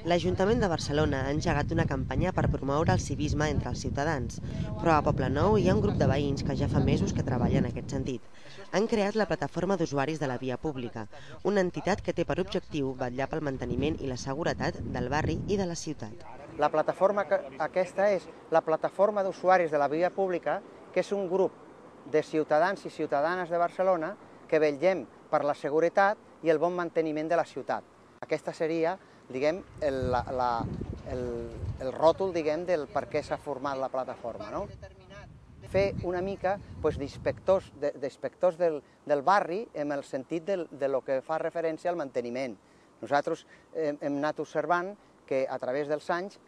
L'Ajuntament de Barcelona ha engegat una campanya per promoure el civisme entre els ciutadans, però a Poblenou hi ha un grup de veïns que ja fa mesos que treballen en aquest sentit. Han creat la Plataforma d'Usuaris de la Via Pública, una entitat que té per objectiu vetllar pel manteniment i la seguretat del barri i de la ciutat. La plataforma aquesta és la Plataforma d'Usuaris de la Via Pública, que és un grup de ciutadans i ciutadanes de Barcelona que vetllem per la seguretat i el bon manteniment de la ciutat. Aquesta seria, diguem, el ròtol, diguem, del per què s'ha format la plataforma, no? Fer una mica d'inspectors del barri en el sentit de lo que fa referència al manteniment. Nosaltres hem anat observant que a través dels anys,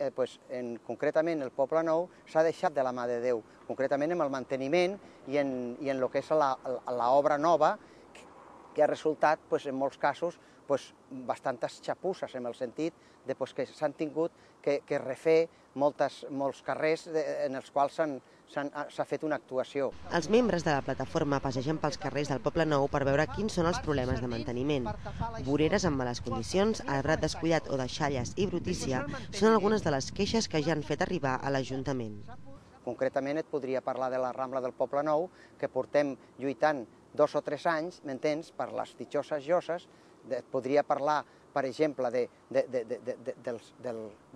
concretament el Poblenou, s'ha deixat de la mà de Déu, concretament en el manteniment i en el que és l'obra nova, que ha resultat, en molts casos, bastantes xapusses, en el sentit que s'han tingut que refer molts carrers en els quals s'ha fet una actuació. Els membres de la plataforma passegen pels carrers del Poblenou per veure quins són els problemes de manteniment. Voreres en males condicions, arbrat descuidat o deixalles i brutícia són algunes de les queixes que ja han fet arribar a l'Ajuntament. Concretament et podria parlar de la Rambla del Poblenou, que portem lluitant 2 o 3 anys, m'entens, per les ditxoses lloses. Et podria parlar, per exemple, de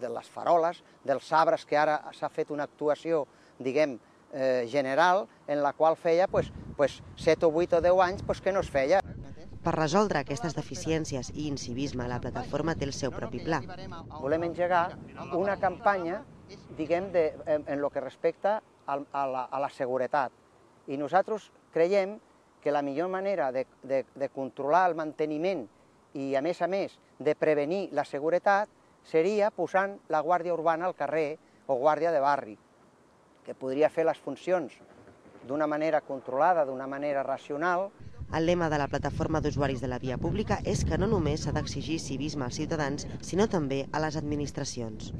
les faroles, dels arbres, que ara s'ha fet una actuació, diguem, general, en la qual feia 7 o 8 o 10 anys que no es feia. Per resoldre aquestes deficiències i incivisme, la plataforma té el seu propi pla. Volem engegar una campanya, diguem, en el que respecta a la seguretat. I nosaltres creiem que la millor manera de controlar el manteniment i, a més, de prevenir la seguretat seria posant la Guàrdia Urbana al carrer o Guàrdia de Barri, que podria fer les funcions d'una manera controlada, d'una manera racional. El lema de la Plataforma d'Usuaris de la Via Pública és que no només s'ha d'exigir civisme als ciutadans, sinó també a les administracions.